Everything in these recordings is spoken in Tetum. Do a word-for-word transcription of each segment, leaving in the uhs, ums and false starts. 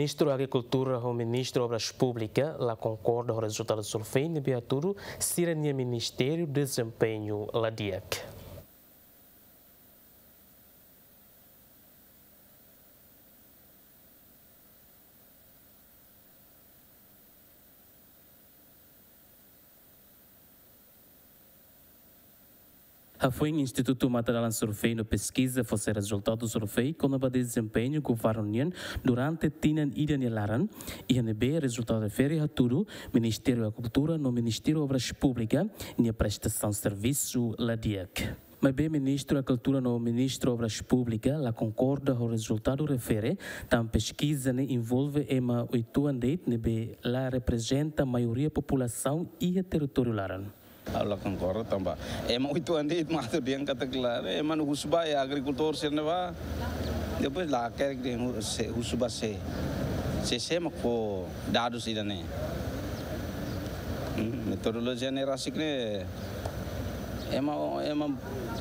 Ministru Agrikultura ho Ministru Obras Públikas la konkorda ho rezultadu sorvei ne'ebé hatudu sira-nia ministériu dezempeñu la di'ak. Hafoin Institutu Matadalan Sorvei no Peskiza fó sai rezultadu sorvei kona-ba dezempeñu governu nian durante tinan ida nia laran, iha ne'ebé rezultadu refere hatudu Ministériu Agrikultura no Ministériu Obras Públikas nia prestasaun servisu la di'ak. Maibé Ministru Agrikultura no Ministru Obras Públikas la konkorda ho rezultadu refere, tanba peskiza ne'e envolve ema oituan de'it ne'ebé la reprezenta maioria populasaun iha territóriu laran. Ha'u la konkorda tanba ema oituan de'it mak atu dehan katak la, ema ne'e husu ba iha agrikultór sira-ne'ebá. Depois la hakerek dehan hu-, sé, husu ba sé. Sé, sé mak fó dadus ida-ne'e. Hmm, metodolojia ne'e rasik ne'e ema, ema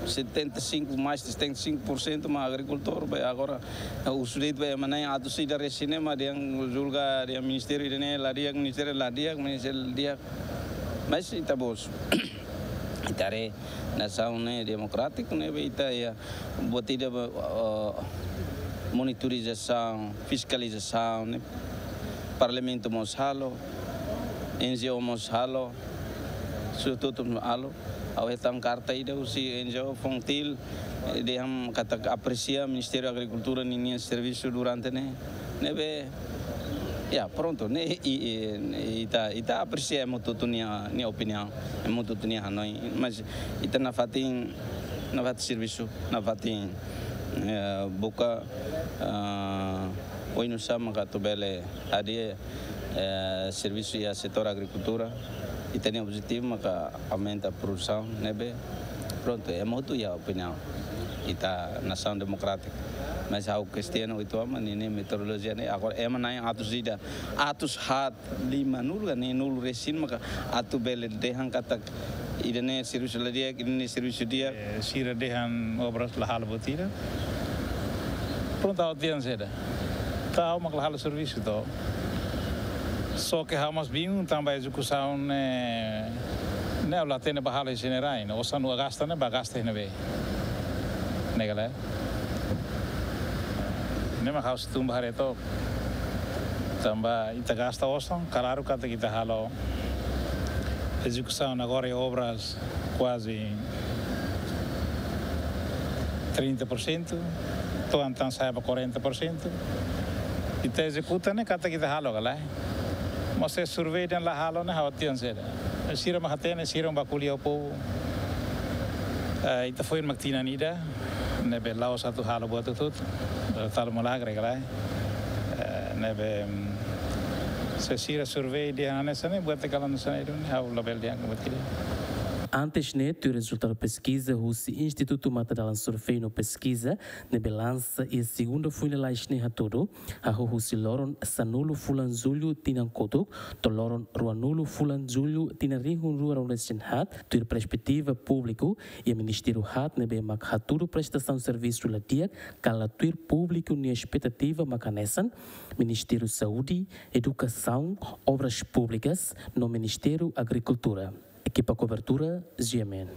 setenta e cinco, mais de setenta e cinco por cento mak agrikultór, ba agora, eh, husu de'it ba ema na'in atus ida resin ne'e mak dehan julga dehan ministériu ida-ne'e la di'ak, ministériu la di'ak, ministériu la di'ak. Mas ita-boot, ita haree nasaun ne'e demokrátiku ne'ebé ita iha, buat ida ba, eh, monitorizasaun, fiskalizasaun ne'e Parlamentu mós halo, N G O mós halo, sututu mós halo. Ha'u hetan karta ida husi N G O Fontil, eh, dehan katak apresia Ministériu Agrikultura ninia servisu durante ne'e. Ne'ebé, ya, prontu, ne'e, i, i, ita, ita apresia ema hotu-hotu nia, nia opiniaun, ema hotu-hotu nia hanoin, mas ita nafatin, nafatin servisu, nafatin, eh, buka, eh, oinsá maka atu bele hadi'a, eh, servisu iha setór agrikultura, ita-nia objetivu maka aumenta produsaun, ne'ebé, prontu, ema hotu iha opiniaun, ita nasaun demokrátiku. Mas ha'u kestiona oituan mak ninia metodolojia ne'e, agora ema na'in atus ida, atus haat limanulu ka neenulu resin maka atu bele dehan katak ida-ne'e servisu la di'ak, ida-ne'e servisu di'ak. Eh, sira dehan obras la halo buat ida. Prontu, ha'u dehan saida. Ka ha'u mak la halo servisu to. Só ke ha'u mós bingung tanba ezekusaun ne'e, ne'e ha'u la hatene ba halo iha ne'ebé, osan atu gasta ne'e ba gasta iha ne'ebé. Ne'e ka lae. Ne'e mak ha'u sei tun ba haree took. Tanba ita gasta osan, klaru katak ita halo ezekusaun agora iha obras kuaze trinta por cento, to'o entaun sa'e ba quarenta por cento. Ita ezekuta ne'e katak ita halo ka lae. Mas se survey dehan la halo ne'e ha'u dehan saida. Sira mak hatene, sira mak ko'alia ho povu. Eh, ita foin mak tinan ida, ne'ebé la'ós atu halo buat hotu-hotu, eh, halo milagre ka lae. Eh, ne'ebé, mm, se sira survey dehan hanesan ne'e, buat ida kala hanesan ne'e duni, ha'u labele dehan buat ida. Antes ne'e, tuir rezultadu peskiza husi Institutu Matadalan Sorvei no Peskiza, ne'ebé lansa iha segunda foin lalais ne'e hatudu, hahú husi loron sanulu fulan Jullu tinan kotuk, to'o loron ruanulu fulan Jullu tinan rihun rua ruanulu resin haat, tuir perspetiva públiku, iha ministériu haat ne'ebé mak hatudu prestasaun servisu la di'ak ka la tuir públiku nia espetativa mak hanesan Ministériu Saúde, Edukasaun, Obras Públikas, no Ministériu Agrikultura. Ekipa kobertura, G M N.